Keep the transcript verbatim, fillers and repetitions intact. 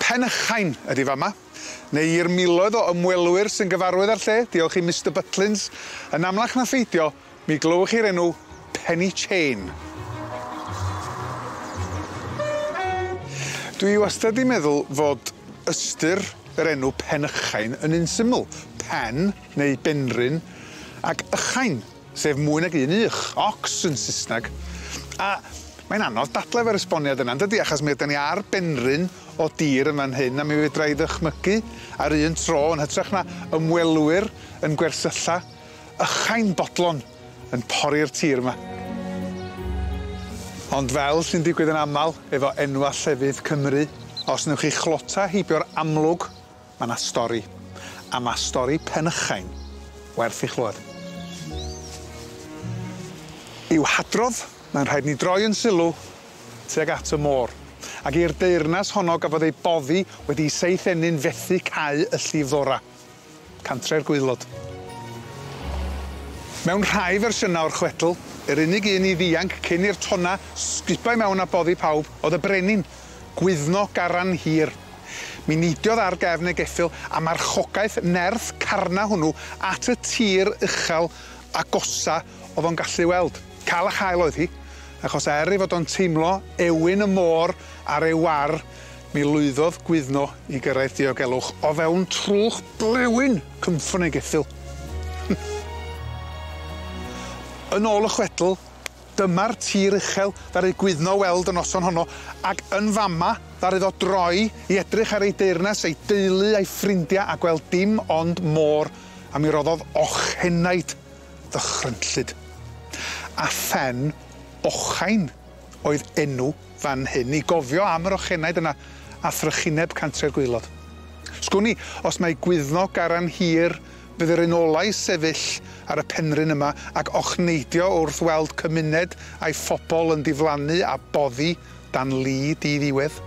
Penychain ydi fama, neu i'r miloedd o ymwelwyr sy'n gyfarwydd â'r lle, diolch i Mister Butlins, yn amlach na pheidio, mi glywch chi'r enw Penny Chain. Dwi wastad 'di meddwl fod ystyr yr enw Penychain yn un syml, pen neu benrhyn ac ychain, sef mwy nag un ych, ox yn Sysnag. A mae'n anodd dadle efo'r esboniad yna, yndydi? Achos mi ydan ni ar benrhyn o dir yn fan hyn, a mi fedra i ddychmygu ar un tro yn hytrach na ymwelwyr yn gwersylla, ychain bodlon yn pori'r tir yma. Ond fel sy'n digwydd yn amal efo enwa llefydd Cymru, os newch chi chlota heibio'r amlwg, ma' 'na stori. A ma' stori Penychain werth ei chlywed. I'w hadrodd, mae'n rhaid ni droi yn sylw tuag at y môr. Ac i'r deyrnas honno gafodd ei boddi wedi seith ennyn fethu cau y llifddora. Cantre'r Gwaelod. Mewn rhai fersiynau o'r chwedl, yr unig un i ddianc cyn i'r tonna sgubau mewn a boddi pawb oedd y brenin, Gwyddno Garan Hir. Mi neidiodd ar gefn ei geffyl a marchogaeth nerth carna hwnnw at y tir uchel agosa oedd o'n gallu weld. Cael a chael oedd hi, achos er ei fod o'n teimlo ewyn y môr ar ei war, mi lwyddodd Gwyddno i gyrraedd diogelwch o fewn trwch blewyn cynffon ei geffyl. Yn ôl y chwedl, dyma'r tir uchel ddaru Gwyddno weld y noson honno, ac yn fama ddaru ddo droi i edrych ar ei deyrnas, ei deulu a'i ffrindiau a gweld dim ond môr, a mi roddodd ochenaid ddychrynllyd. A phen Ochain oedd enw fan hyn i gofio am yr ochenaid yna a thrychineb Cantre'r Gwaelod. Sgwn i, os mae Gwyddno Garan Hir fydd yr un ola i sefyll ar y penrhyn yma ac ochneidio wrth weld cymuned a'i phobl yn diflannu a boddi dan li diddiwedd.